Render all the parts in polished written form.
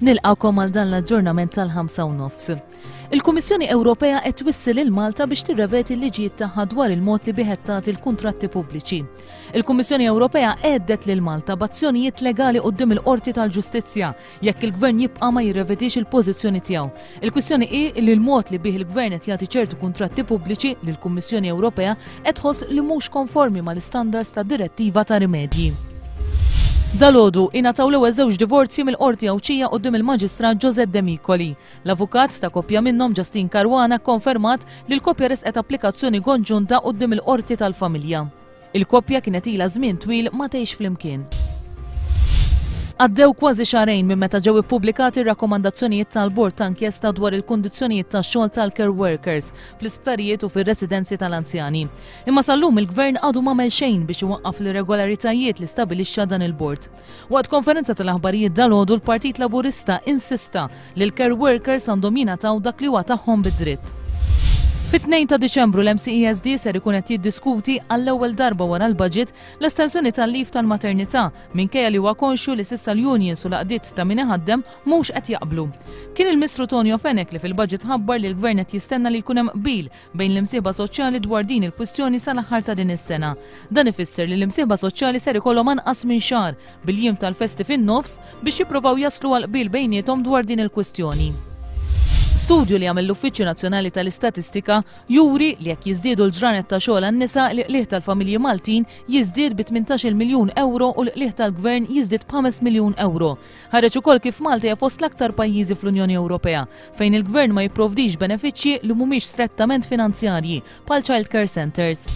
Nilqakom għal dan l-aġġornament tal-5 u nofs. Il-Kummissjoni Ewropea qed twissi lil Malta biex tirreveti l-liġijiet tagħha dwar il-mod li bih qed tagħti l-kuntratti pubbliċi. Il-Kummissjoni Ewropea għeddet lil Malta b'azzjonijiet legali quddiem il-Qorti tal-Ġustizzja jekk il-Gvern jibqa' ma jirrevedix il-pożizzjoni tiegħu. Il-kwistjoni hi li l-mod li bih il-Gvern qed jagħti ċertu kuntratti pubbliċi li l-Kummissjoni Ewropea qed tħoss li mhux konformi mal-istandards tad-Direttiva ta' Rimedji. Dalgħodu ingħataw l-ewwel żewġ divorzji mill-Qorti Għawdxija quddiem il-Maġistrat Josette Demicoli. L-avukat ta' koppja minnhom Justine Caruana kkonfermat li l-koppja ressqet applikazzjoni konġunta quddiem il-Qorti tal-Familja. Il-koppja kienet ilha żmien twil ma tgħix flimkien. Għaddew kważi xahrejn minn meta ġew ippubblikati r-rakkomandazzjonijiet tal-Bord ta' Inkjesta dwar il-kundizzjonijiet tax-xogħol tal-care workers fl-isptarijiet u fir-residenzi tal-anzjani. Imma sal-lum il-Gvern għadu m'għamel xejn biex iwaqqaf l-irregolaritajiet li stabilixxa dan il-bord. Waqt konferenza tal-aħbarijiet dalgħodu l-Partit Laburista insista li l-care workers għandhom jingħataw dak li huwa tagħhom bi dritt. Fit-2 ta' Diċembru l-MCESD ser ikun qed jiddiskuti għall-ewwel darba wara l-budget l-estensjoni tal-leave tal-maternità minkejja li huwa konxju li s'issa l-unions u l-għaqdiet ta' min iħaddem mhux qed jaqblu. Kien il-Mistru Tonio Fenech li fil-budget ħabbar li l-Gvern qed jistenna li jkun hemm qbil bejn l-imsieħba soċjali dwar din il-kwistjoni sal-aħħar ta' din is-sena. Dan ifisser li l-imsieħba soċjali ser ikollhom anqas minn xahar, bil-jiem tal-festi fin-nofs, biex jipprovaw jaslu għal qbil bejniethom dwar din il-kwistjoni. Studju li għamel l-Uffiċċju Nazzjonali tal-Istatistika juri li jekk jiżdiedu l-ġranet ta' xogħol għan-nisa, l-qligħ tal-familji Maltin jiżdied bi 18-il miljun ewro u l-qligħ tal-Gvern jiżdied b'ħames miljun ewro. Ħareġ ukoll kif Malta hija fost l-aktar pajjiżi fl-Unjoni Ewropea fejn il-Gvern ma jipprovdix benefiċċji li mhumiex strettament finanzjarji, bħal child care centres.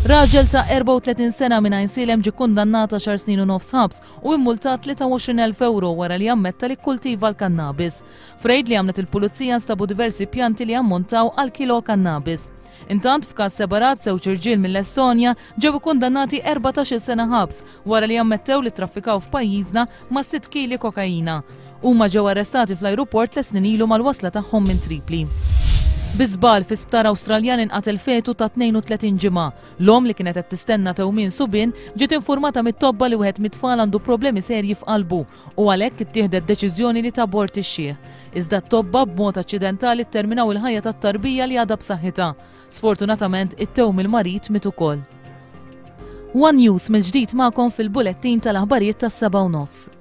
Raġel ta' 34 sena minn Għajnsielem ġie kkundannat għaxar snin u nofs ħabs u immultat 23,000 ewro wara li ammetta li kkultiva l-kannabis. F'rejd li għamlet il-Pulizija nstabu diversi pjanti li jammontaw għal kilo kannabis. Intant, f'każ separat, żewġ irġiel mill-Estonja ġew ikkundannati 14-il sena ħabs wara li ammettew li ttraffikaw f'pajjiżna ma' sitt kili kokaina. Huma ġew arrestati fl-ajruport tliet snin ilu mal-wasla tagħhom minn Tripli. Bi żball fi sptar Awstraljan inqatel fetu ta' 32 ġimgħa. L-omm li kienet qed tistenna tewmin subien ġiet infurmata mit-tobba li wieħed mit-tfal għandu problemi serji f'qalbu u għalhekk ittieħdet deċiżjoni li tabortixxih. Iżda t-tobba b'mod aċċidentali tterminaw il-ħajja tat-tarbija li għadha b'saħħitha. Sfortunatament, it-tewm il-marid miet ukoll. One News mill-ġdid magħkom fil-bulettin tal-aħbarijiet tas-7:30.